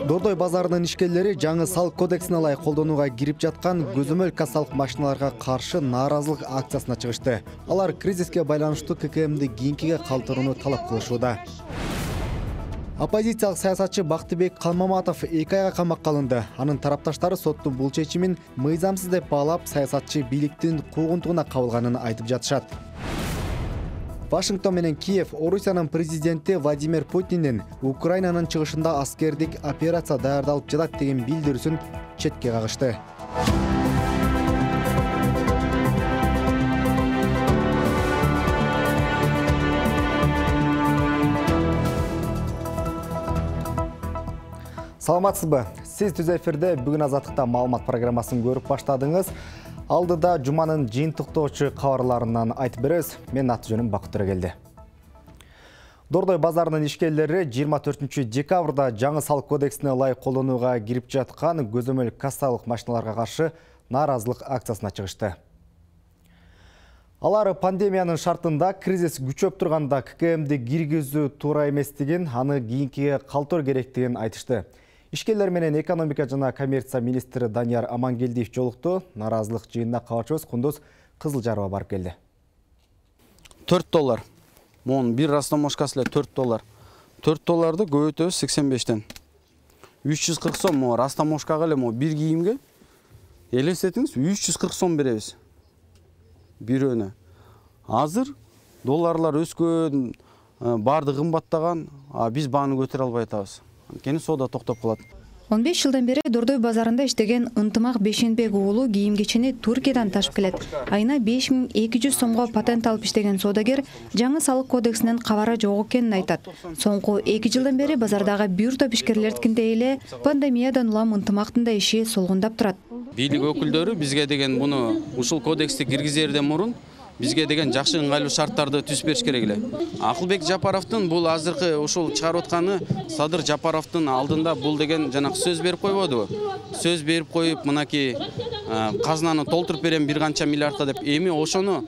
Дордой базарынын ишкерлери жаңы салык кодексине ылайык колдонууга кирип жаткан көзөмөл кассалык машиналарга каршы нааразылык акциясына чыгышты. Алар кризиске байланыштуу ККМди кийинкиге калтырууну талап кылышууда. Оппозициялык саясатчы Бактыбек Калмаматов 2 айга камакка алынды. Анын тарапташтары соттун бул чечимин мыйзамсыз деп баалап, саясатчы бийликтин куугунтугуна кабылганын айтып жатышат. Вашингтон менен Киев Орусиянын президенти Владимир Путиндин Украинанын чыгышында аскердик операция даярдалып жатат деген билдирүүсүн четке кагышты. Саламатсызбы? Сиз түз эфирде бүгүн Азаттыкта маалымат программасын көрүп баштадыңыз. Алдыда жуманын жыйынтыктоочу кабарларынан айтып беребиз. Мен аты-жөнүм Бакыт Төрөгелди. Дордой базарынын ишкерлери 24-декабрда жаңы салык кодексине ылайык колдонууга кирип жаткан көзөмөл кассалык машиналарга каршы нааразылык акциясына чыгышты. Алар пандемиянын шартында кризис күчөп турганда ККМди киргизүү туура эместигин, аны кийинкиге калтыруу керектигин айтышты. Ишкерлер менен экономика жана коммерция министри Данияр Амангелдиев жолукту. Нааразылык жыйынына кабарчыбыз Кундуз Кызылжарова барып келди. $4. Монун бир растамошкасы эле $4. $4 көбөйтөбүз 85-тен. 340 сом mo растамошкага эле mo бир кийимге элестетиңиз 340 сом беребиз. Бирөөнө. Азыр долларлар өскөн, баардыгы кымбаттаган, биз бааны көтөрө албай атабыз. Анткени соода токтоп калат. 15 жылдан бери Дордой базарында иштеген Ынтымак Бешенбек уулу кийим-кечени Туркиядан ташып келет. Айына 5200 сомго патент алып иштеген соодагер жаңы салык кодексинен кабары жок экенин айтат. Соңку 2 жылдан бери базардагы бир топ ишкерлердикиндей эле пандемиядан улам Ынтымактын да иши солгундап турат. Бийлик өкүлдөрү бизге деген буну ушул кодексти киргизерден мурун бизге деген жакшы ыңгайлуу шарттарды түзүп бериш керек эле. Акылбек Жапаровдун бул азыркы ушул чыгарып атканы Садыр Жапаровдун алдында бул деген жанагы сөз берип койбодубу? Сөз берип коюп, мынакей казнаны толтуруп берем бир канча миллиардка деп. Эми ошону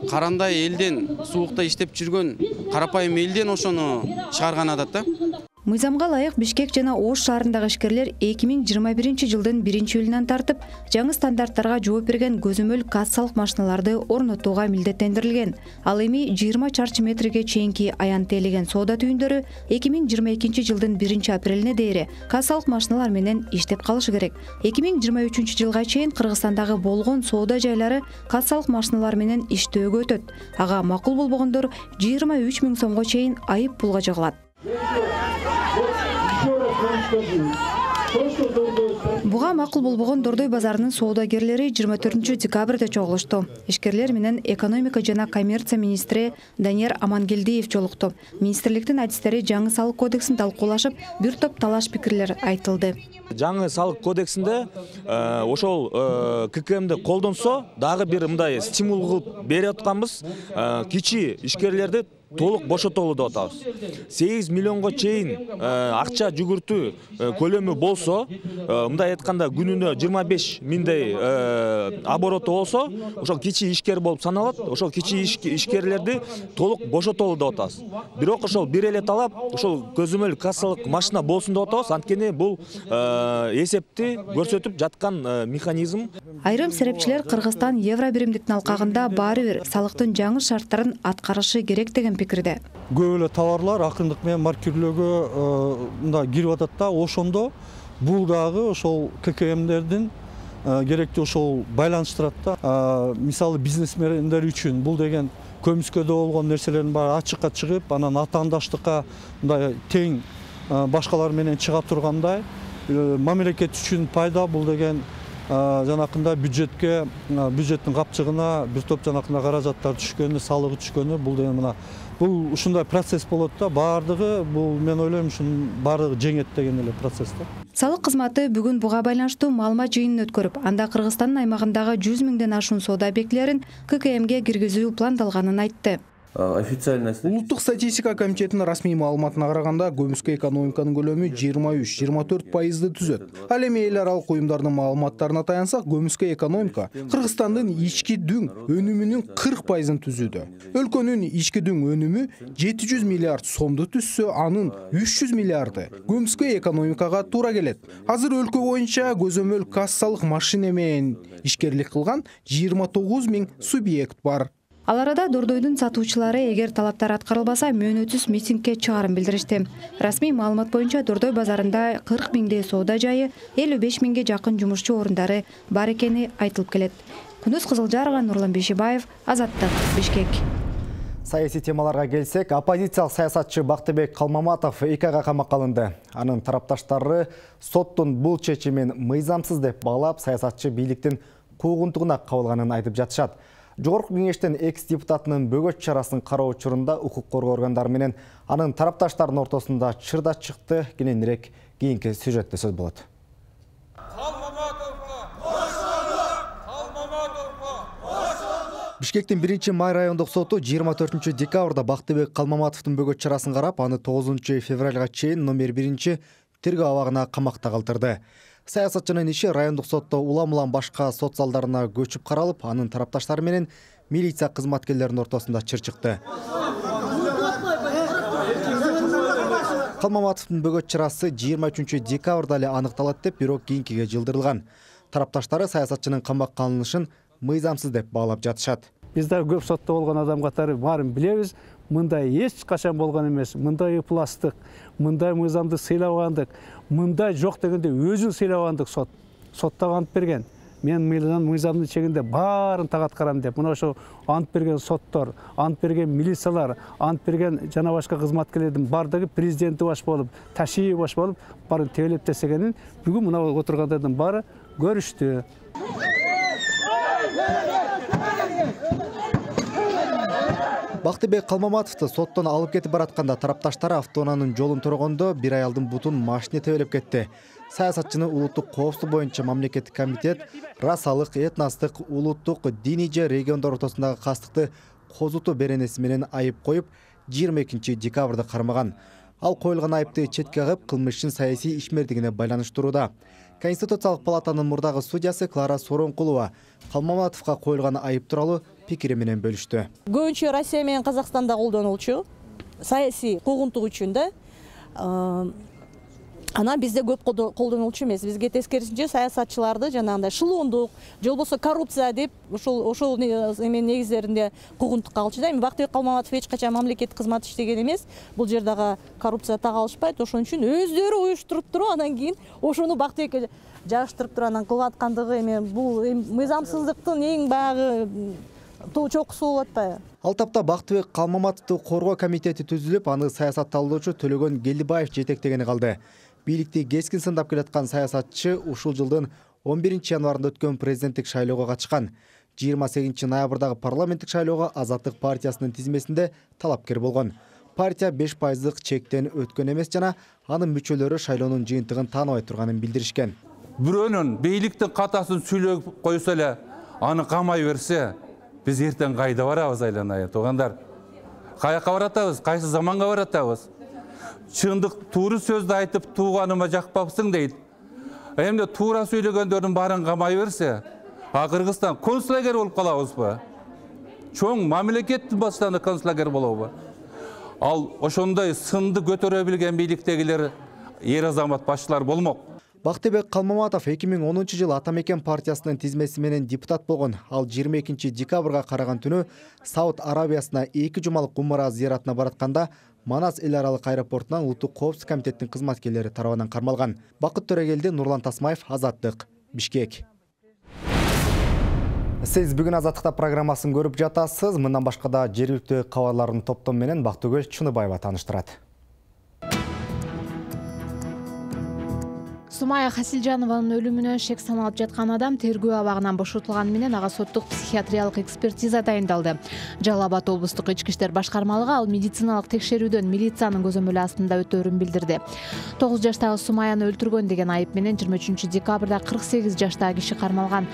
карандай элден, суукта иштеп жүргөн карапайым элден ошону чыгарган атат да. Мыйзамга ылайык Бишкек жана Ош шаарындагы ишкерлер 2021-жылдын 1-июлунан тартып жаңы стандарттарга жооп берген көзөмөл кассалык машиналарды орнотууга милдеттендирилген. Ал эми 20 чарчы метрге чейинки аян тейлеген соода түйүндөрү 2022-жылдын 1-апрелине дейре кассалык машиналар менен иштеп калышы керек. 2023-жылга чейин Кыргызстандагы болгон соода жайлары кассалык машиналар менен иштөөгө өтөт. Ага макул болбогондор 23 000 сомго чейин айып пулга жыгылат. Буга макул болбогон Дордой базарынын соодагерлери 24-декабрда чогулушту. Ишкерлер менен экономика жана коммерция министри Данияр Амангелдиев жолукту. Министрликтин адистери жаңы салык кодексин талкуулашып, бир топ талаш пикирлер айтылды. Жаңы салык кодексинде ошол ККМди колдонсо, дагы бир мындай стимул кылып берип атканбыз, кичи ишкерлерди толук бошотолу деп атабыз. 8 миллионго чейин акча жүгүртүү көлөмү болсо, мындай айтканда күнүнө 25 000 обороту болсо, ошол кичи ишкер болуп саналат. Ошол кичи ишкерлерди толук бошотолу деп атабыз. Бирок ошол бир эле талап, ошол көзөмөл кассалык машина болсун деп атабыз. Анткени бул эсепти көрсөтүп жаткан механизм. Айрым серепчилер Кыргызстан евро биримдиктин алкагында баары бир салыктын жаңы шарттарын аткарышы керек деген пикирде. Көп эле товарлар акырындык менен маркирлөөгө мындай кирип атат да, ошондо бул дагы ошол ККМдердин керектүү ошол байланыштырат да. Мисалы бизнесмендер үчүн бул деген көмүскөдө болгон нерселердин баары ачыкка чыгып, анан атаандаштыкка мындай тең башкалар менен чыга тургандай, мамлекет үчүн пайда бул деген жанакында бюджеттин капчыгына бир топ жанакында каражаттар түшкөнү, салыгы түшкөнү, бул деген мына бул ушундай процесс болот да, баардыгы бул мен ойлойм ушунун баардыгы жеңет деген эле процесс да. Салык кызматы бүгүн буга байланыштуу маалымат жыйынын өткөрүп, анда Кыргызстандын аймагындагы 100 000ден ашуун соода объектилерин ККМге киргизүү пландалганын айтты. Улуттук статистика комитетинин расмий маалыматына караганда көмүскө экономиканын көлөмү 23-24% түзөт. Ал эми эл аралык уюмдардын маалыматтарына таянсак, көмүскө экономика Кыргызстандын ички дүң өнүмүнүн 40% түзүүдө. Өлкөнүн ички дүң өнүмү 700 миллиард сомду түзсө, анын 300 миллиарды көмүскө экономикага туура келет. Азыр өлкө боюнча көзөмөл кассалык машина менен ишкерлик кылган 29 000 субъект бар. Ал арада Дордойдун сатуучулары эгер талаптар аткарылбаса мөөнөтсүз митингге чыгарын билдиришти. Расмий маалымат боюнча Дордой базарында 40 000 соода жайы, 55 000 жакын жумушчу орундары бар экени айтылып келет. Күнүс Кызылжарова, Нурлан Бейшебаев, Азаттык, Бишкек. Саясий темаларга келсек, оппозициялык саясатчы Бактыбек Калмаматов 2 айга камакка алынды. Анын тарапташтары соттун бул чечимин мыйзамсыз деп баалап, саясатчы бийликтин куугунтугуна кабылганын айтып жатышат. Жогорку кеңештин экс-депутатынын бөгөт чарасын кароо учурунда укук коргоо органдары менен анын тарапташтарынын ортосунда чырдач чыкты. Кененирээк кийинки сюжетте сөз болот. Бишкектин 1-май райондук соту 24 декабрда Бактыбек Калмаматовдун бөгөт чарасын карап, аны 9 февралга чейин номер 1 тергөө абагына камакта калтырды. Саясатчынын иши райондук сотто улам-улам башка сот залдарына көчүп каралып, анын тарапташтары менен милиция кызматкерлеринин ортосунда чыр чыкты. Калмаматовдун бөгөт чарасы 23 декабрда эле аныкталат деп, бирок кийинкиге жылдырылган. Тарапташтары саясатчынын камакка алынышын мыйзамсыз деп баалап жатышат. Биз да көп сотто болгон адам катары баарын билебиз. Мындай эч качан болгон эмес. Мындай ыпластык, мындай мыйзамды сыйлабагандык, мындай жок дегенде өзүн сыйлабагандык сотто ант берген. Мен мыйзамдын чегинде баарын так аткарам деп. Мына ошо ант берген соттор, ант берген милициялар, ант берген жана башка кызматкерлердин бардыгы президенти баш болуп, Ташиев баш болуп, баарын тебелеп десегенин бүгүн мына отургандардын баары көрүштү. Бактыбек Калмаматовду соттон алып кетип баратканда тарапташтары автоунаанын жолун төрөгөндө бир аялдын бутун машина тебелеп кетти. Саясатчыны улуттук коопсуздук боюнча мамлекеттик комитет расалык, этностук, улуттук, диний же региондор ортосундагы кастыкты козутуу беренеси менен айып коюп, 22 декабрда кармаган. Ал коюлган айыпты четке кагып, кылмыштын саясий ишмердигине байланыштырууда. Конституциялык палатанын мурдагы судьясы Клара Соронкулова Калмаматовго коюлган айып тууралуу пикири менен бөлүштү. Көбүнчө Россия менен Казакстанда колдонулчу саясий куугунтук үчүн да анан бизде көп колдонулчу эмес. Бизге тескерисинче саясатчыларды жанагындай шылоондук, же болбосо коррупция деп ошол эменин негиздеринде куугунтукка алчу да. Эми Бактыбек Калмаматов эч качан мамлекеттик кызмат иштеген эмес. Бул жердагы коррупция так алышпайт. Ошон үчүн өздөрү уюштуруп туруп, анан кийин ошону Бактыбекке жаштырып туруп анан кылып аткандыгы эми бул мыйзамсыздыктын эң баягы чокусу болуп атпайбы? Ал тапта Бактыбек Калмаматовду коргоо комитети түзүлүп, аны саясатталуучу Төлөгөн Келдибаев жетектегени калды. Бийликти кескин сындап келаткан саясатчы ушул жылдын 11 январында өткөн президенттик шайлоого катышкан. 28 ноябрдагы парламенттик шайлоого Азаттык партиясынын тизмесинде талапкер болгон. Партия 5% чектен өткөн эмес жана анын мүчөлөрү шайлоонун жыйынтыгын тааныбай турганын билдиришкен. Бирөөнүн бийликтин катасын сүйлөп койсо эле, аны камай берсе, биз эртең кайда барабыз айланайын туугандар? Каяка баратабыз? Кайсы заманга баратабыз? Чындык туура сөздү айтып тууганыма жакпапсың дейт. Эмне туура сүйлөгөндөрдүн баарын камай берсе, Кыргызстан концлагер болуп калабызбы? Чоң мамлекеттин башчылары концлагер болобу? Ал ошондой сынды көтөрө билген бийликтегилер эр азамат башчылар болмок. Бактыбек Калмаматов 2010 жылы Атамекен партиясынын тизмеси менен депутат болгон. Ал 22 декабрга караган түнү Сауд Арабиясына 2 жумалык умара зыяратына баратканда Манас эл аралык аэропортунан улуттук коопсуздук комитетинин кызматкерлери тарабынан кармалган. Бакыт Төрөгелди, Нурлан Тасмаев, Азаттык, Бишкек. Сиз бүгүн Азаттыкта программасын көрүп жатасыз. Мындан башка да жергиликтүү кабарлардын топтому менен Бактыгөл Чыныбаева тааныштырат. Сумая Хасилжанованын өлүмүнө шек саналып жаткан адам тергөө абагынан бошотулганы менен ага соттук психиатриялык экспертиза дайындалды. Жалал Абад облустук ички иштер башкармалыгы ал медициналык текшерүүдөн милициянын көзөмөлү астында өтөөрүн билдирди. 9 жаштагы Сумаяны өлтүргөн деген айып менен 23 декабрда 48 жаштагы киши кармалган.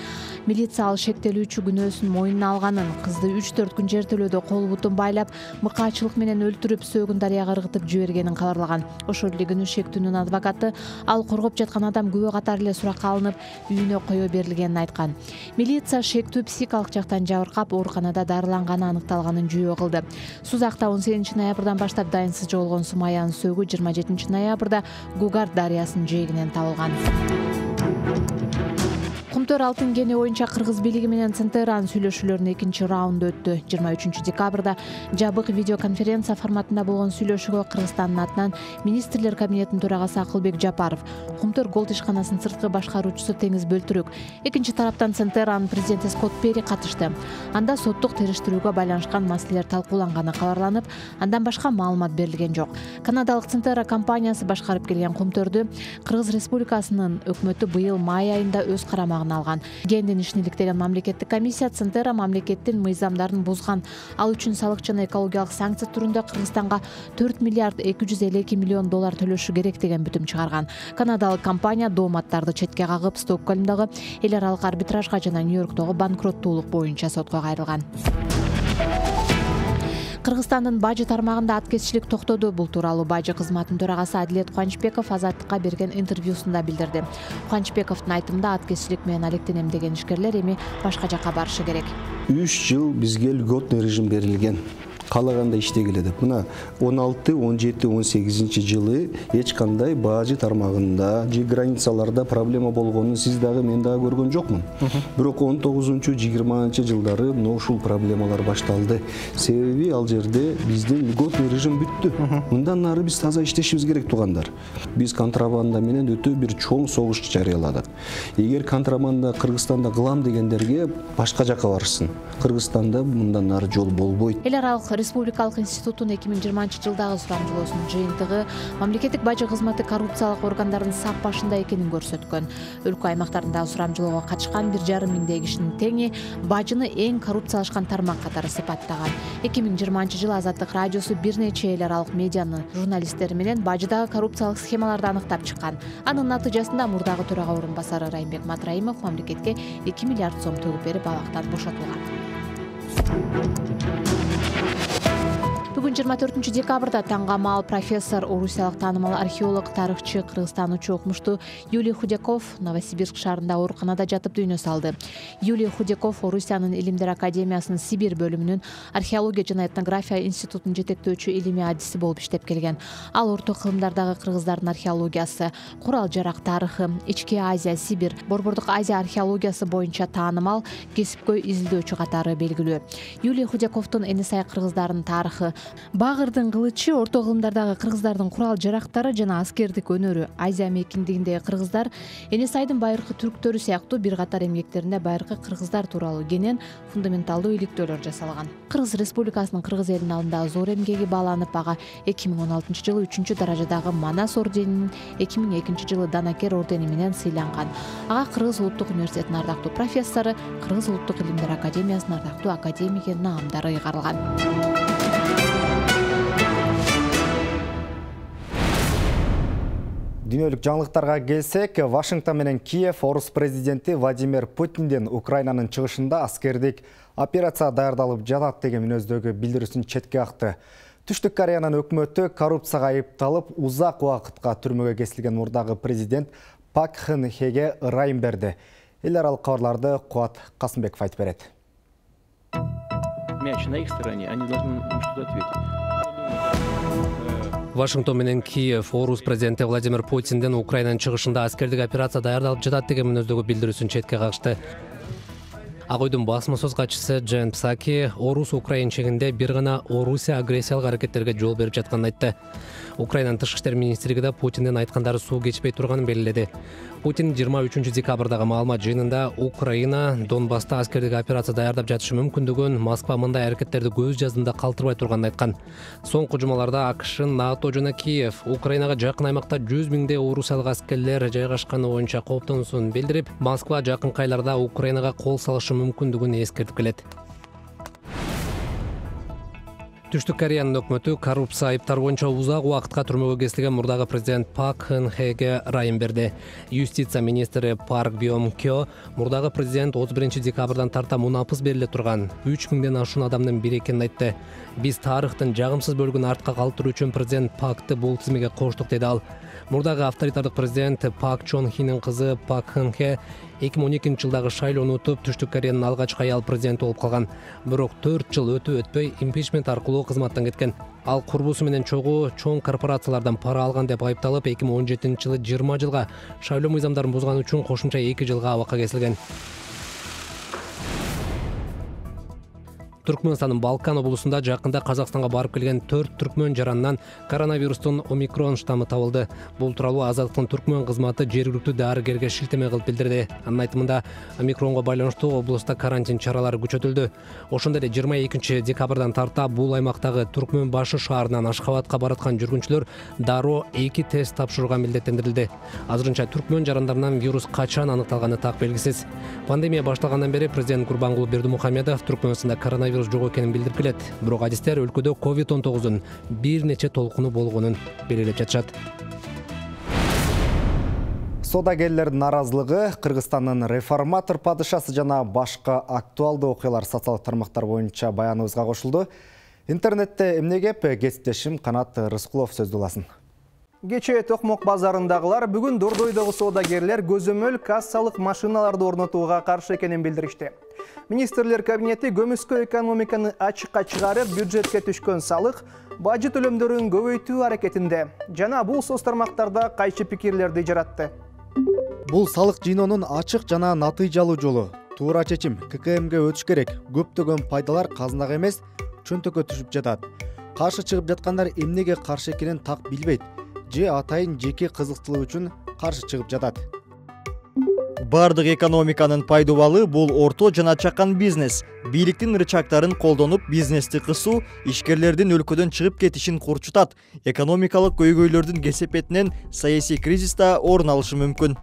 Милиция ал шектелүүчү күнөөсүн мойнуна алганын, кызды 3-4 күн жертөлөөдө кол бутун байлап, мыкаачылык менен өлтүрүп, сөөгүн дарыяга ыргытып жибергенин кабарлаган. Ошол эле күнү шектүүнүн адвокаты ал коргоп жаткан адам күбө катары эле суракка алынып, үйүнө кое берилгенин айткан. Милиция шектүү психикалык жактан жабыркап, ооруканада дарыланганы аныкталганын жүйө кылды. Сузакта 18 ноябрдан баштап дайынсыз жоголгон Сумаянын сөөгү 27 ноябрда Гугард дарыясынын жээгинен табылган. Кумтөр алтын кени боюнча кыргыз бийлиги менен Центеранын сүйлөшүүлөрүнүн экинчи раунду өттү. 23 декабрда жабык видеоконференция форматында болгон сүйлөшүүгө Кыргызстандын атынан Министрлер кабинетинин төрагасы Акылбек Жапаров, Кумтөр голд ишканасынын сырткы башкаруучусу Теңиз Бөлтүрүк, экинчи тараптан Центеранын президенти Скотт Перри катышты. Анда соттук териштирүүгө байланышкан маселелер талкууланганы кабарланып, андан башка маалымат берилген жок. Канадалык Центера компаниясы башкарып келген Кумтөрдү Кыргыз Республикасынын өкмөтү быйыл май айында өз карамагына алган. Кендин ишин иликтеген мамлекеттик комиссия Центера мамлекеттин мыйзамдарын бузган, ал үчүн салык жана экологиялык санкция түрүндө Кыргызстанга 4 миллиард 252 миллион доллар төлөшү керек деген бүтүм чыгарган. Канадалык компания дооматтарды четке кагып, Стокгольмдогу эл аралык арбитражга жана Нью-Йорктогу банкроттуулук боюнча сотко кайрылган. Кыргызстандын бажы тармагында аткезчилик токтоду. Бул тууралуу бажы кызматынын төрагасы Адилет Кубанычбеков Азаттыкка берген интервьюсунда билдирди. Кубанычбековдун айтымында аткезчилик менен алектенем деген ишкерлер эми башка жакка барышы керек. 3 жыл бизге льготный режим берилген. Каалаганда иштегиле деп. Мына 16, 17, 18 жылы эч кандай бажы тармагында же границаларда проблема болгонун сиз дагы мен дагы көргөн жокмун. Бирок 19-20 жылдары ушул проблемалар башталды. Себеби ал жерде биздин льготный режим бүттү. Мындан нары биз таза иштешибиз керек туугандар. Биз контрабанда менен өтө бир чоң согуш жарыяладык. Эгер контрабанда Кыргызстанда кылам дегендерге башка жакка барышсын. Кыргызстанда мындан нары жол болбойт. Эл аралык Республикалык институттун 2020 жылдагы сурамжылоосунун жыйынтыгы мамлекеттик бажы кызматы коррупциялык органдардын сап башында экенин көрсөткөн. Өлкө аймактарында сурамжылоого катышкан 1,5 миңдей кишинин теңи бажыны эң коррупциялашкан тармак катары сыпаттаган. 2020 жылы Азаттык радиосу бир нече эл аралык медианын журналисттери менен бажыдагы коррупциялык схемаларды аныктап чыккан. Анын натыйжасында мурдагы төрага орун басары Райымбек Матраимов мамлекетке 2 миллиард сом төгүп берип абактан бошотулган. Бүгүн 24 декабрда таңгамал профессор, орусиялык таанымал археолог, тарыхчы, кыргызстанчу окумуштуу Юлий Худяков Новосибирск шаарында ооруканада жатып дүйнө салды. Юлий Худяков Орусиянын Илимдер академиясынын Сибирь бөлүмүнүн археология жана этнография институтунун жетектөөчү илимий адиси болуп иштеп келген. Ал орто кылымдардагы кыргыздардын археологиясы, курал-жарак тарыхы, Ички Азия, Сибирь, Борбордук Азия археологиясы боюнча таанымал кесипкөй изилдөөчү катары белгилүү. Юлий Худяковдун эни сай кыргыздарынын тарыхы, Багырдын кылычы, орто кылымдардагы кыргыздардын курал-жарактары жана аскердик өнөрү, Азия мейкиндигиндеги кыргыздар, эни сайдын байыркы түрктөрү сыяктуу бир катар эмгектеринде байыркы кыргыздар тууралуу кенен фундаменталдуу иликтөөлөр жасалган. Кыргыз Республикасынын кыргыз элинин алдындагы зор эмгеги бааланып, ага 2016 жылы 3 даражадагы Манас орденинин, 2002 жылы Данакер ордени менен сыйланган. Ага Кыргыз улуттук университетинин ардактуу профессору, Кыргыз улуттук илимдер академиясынын ардактуу академиги наамдары ыйгарылган. Дүйнөлүк жаңылыктарга келсек, Вашингтон менен Киев орус президенти Владимир Путиндин Украинанын чыгышында аскердик операция даярдалып жатат деген мүнөздөгү билдирүүсүн четке какты. Түштүк Кореянын өкмөтү коррупцияга айыпталып, узак убакытка түрмөгө кесилген мурдагы президент Пак Кын Хеге ырайым берди. Эл аралык кабарларды Кубат Касымбеков айтып берет. Мяч на их стороне, они должны что-то ответить. Вашингтон менен Киев орус президенти Владимир Путиндин Украинанын чыгышында аскердик операция даярдалып жатат деген мүнөздөгү билдирүүсүн четке какты. Ак Үйдүн басма сөз катчысы Джен Псаки орус Украин чегинде бир гана Орусия агрессиялык аракеттерге жол берип жатканын айтты. Украинанын тышкы иштер министрлиги да Путиндин айткандары суу кечпей турганын белгиледи. Путин 23 декабрдагы маалымат жыйынында Украина Донбасста аскердик операция даярдап жатышы мүмкүндүгүн, Москва мындай аракеттерди көз жаздында калтырбай турганын айткан. Соңку жумаларда АКШ, НАТО жана Киев Украинага жакын аймакта 100 миңдей орусиялык аскерлер жайгашканы боюнча кооптонуусун билдирип, Москва жакынкы айларда Украинага кол салышы мүмкүндүгүн эскертип келет. Түштүк Кореянын өкмөтү коррупция айыптары боюнча узак убакытка түрмөгө кесилген мурдагы президент Пак Кын Хеге ырайым берди. Юстиция министри Парк Бьом Кё мурдагы президент 31 декабрдан тарта мунапыс бериле турган 3000ден ашуун адамдын бири экенин айтты. Биз тарыхтын жагымсыз бөлүгүн артка калтыруу үчүн президент Пакты бул тизмеге коштук деди ал. Мурдагы авторитардык президент Пак Чон Хинин кызы Пак Кын Хе 2012 жылдагы шайлоону утуп, Түштүк Кореянын алгачкы аял президенти болуп калган. Бирок 4 жыл өтпөй импичмент аркылуу кызматтан кеткен. Ал курбусу менен чоң корпорациялардан пара алган деп айыпталып, 2017 жылы 20 жылга, шайлоо мыйзамдарын бузган үчүн кошумча 2 жылга абакка кесилген. Түркмөнстандын Балкан облусунда жакында Казакстанга барып келген 4 түркмөн жаранынан коронавирустун омикрон штаммы табылды. Бул тууралуу Азаттыктын түркмөн кызматы жергиликтүү дарыгерге шилтеме кылып билдирди. Анын айтымында, омикронго байланыштуу облуста карантин чаралары күчөтүлдү. Ошондой эле 22 декабрдан тарта бул аймактагы Түркмөн башы шаарынан Ашхабадка бараткан жүргүнчүлөр дароо 2 тест тапшырууга милдеттендирилди. Азырынча түркмөн жарандарынан вирус качан аныкталганы так белгисиз. Пандемия башталгандан бери президент Гурбангулы Бердимухамедов Түркмөнстанда коронавирус жок экенин билдирип келет. Бирок адистер өлкөдө COVID-19 бир нече толкуну болгонун белгилеп жатышат. Содагерлердин наразылыгы, Кыргызстандын реформатор падышасы жана башка актуалдуу окуялар социалдык тармактар боюнча баяныбызга кошулду. Интернетте эмне кеп, кесиптешим Канат Рыскулов сөз уласын. Кечээ Токмок базарындагылар бүгүн Дордойдогу содагерлер көзөмөл кассалык машиналарды орнотууга каршы экенин билдиришти. Министрлер кабинети көмүскө экономиканы ачыкка чыгарып, бюджетке түшкөн салык, бажы төлөмдөрүн көбөйтүү аракетинде. Жана бул соц тармактарда кайчы пикирлерди жаратты. Бул салык жыйноонун ачык жана натыйжалуу жолу. Туура чечим ККМге өтүш керек. Көптөгөн пайдалар казынага эмес, чөнтөккө түшүп жатат. Каршы чыгып жаткандар эмнеге каршы экенин так билбейт. Же атайын жеке кызыктылык үчүн каршы чыгып жатат. Бардык экономиканын пайдубалы бул орто жана чакан бизнес. Бийликтин рычагдарын колдонуп бизнести кысуу ишкерлердин өлкөдөн чыгып кетишин курчутат. Экономикалык көйгөйлөрдүн кесепетинен саясий кризис да орун алышы мүмкүн.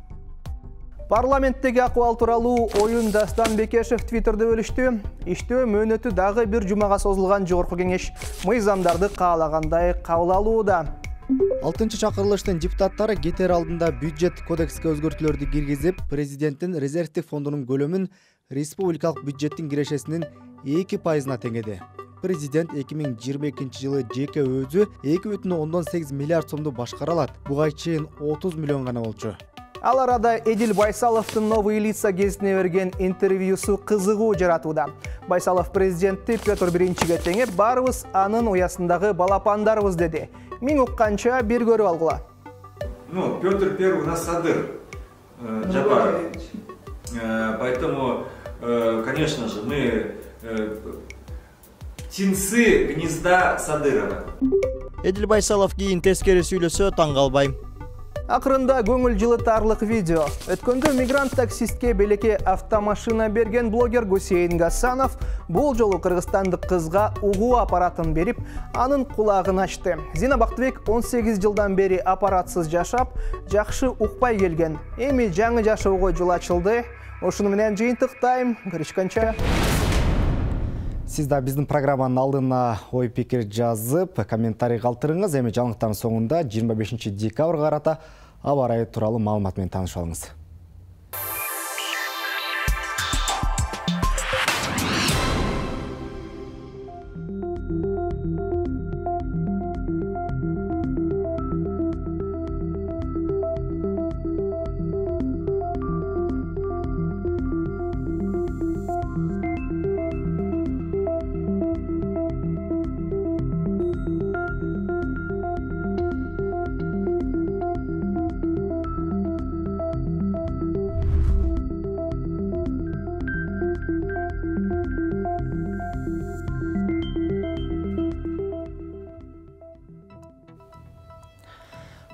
Парламенттеги акыбал тууралуу оюн Дастан Бекешев Твиттерде бөлүштү. Иштөө мөөнөтү дагы бир жумага созулган жогорку кеңеш мыйзамдарды каалагандай кабыл алууда. 6-чы чакырылыштын депутаттары кетер алдында бюджет кодекске өзгөртүүлөрдү киргизип, президенттин резервдик фондунун көлөмүн республикалык бюджеттин кирешесинин 2%-на теңеди. Президент 2022 жылы жеке өзү 2,8 миллиард сомду башкара алат. Буга чейин 30 миллион гана болчу. Ал арада Эдил Байсаловдун новый лица гезитине берген интервьюсу кызыгуу жаратууда. Байсалов президентти Петр Биринчиге теңеп, барыбыз анын уясындагы балапандарбыз деди. Мен укканча бир көрүп алгыла. Петр Первый у нас садыр, Джапаров. Поэтому, конечно же, мы птенцы гнезда Садырова. Эдил Байсалов кийин тескери сүйлөсө таң калбайм. Акырында көңүл жылытарлык видео. Өткөндө мигрант таксистке белекке автомашина берген блогер Гусейн Гасанов бул жолу кыргызстандык кызга угуу аппаратын берип, анын кулагын ачты. Зина Бактыбек 18 жылдан бери аппаратсыз жашап, жакшы укпай келген. Эми жаңы жашоого жол ачылды. Ошону менен жыйынтыктайм. Көрүшкөнчө. Сиз да биздин программанын алдына ой пикир жазып, комментарий калтырыңыз. Эми жаңылыктардын соңунда 25 декабрга карата аба ырайы тууралуу маалымат менен таанышып алыңыз.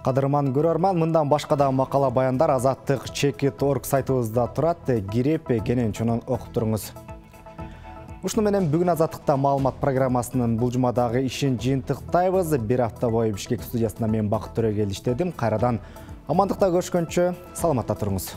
Кадырман көрөрман, мындан башка да макала баяндар Азаттык Чекит.org сайтыбызда турат. Кирип кенен чонун окуп туруңуз. Ушуну менен бүгүн Азаттыкта маалымат программасынын бул жумадагы ишин жыйынтыктайбыз. Бир апта бою Бишкек студиясында мен Бакыт Төрөгел иштедим. Кайрадан амандыкта көрүшкөнчө саламатта туруңуз.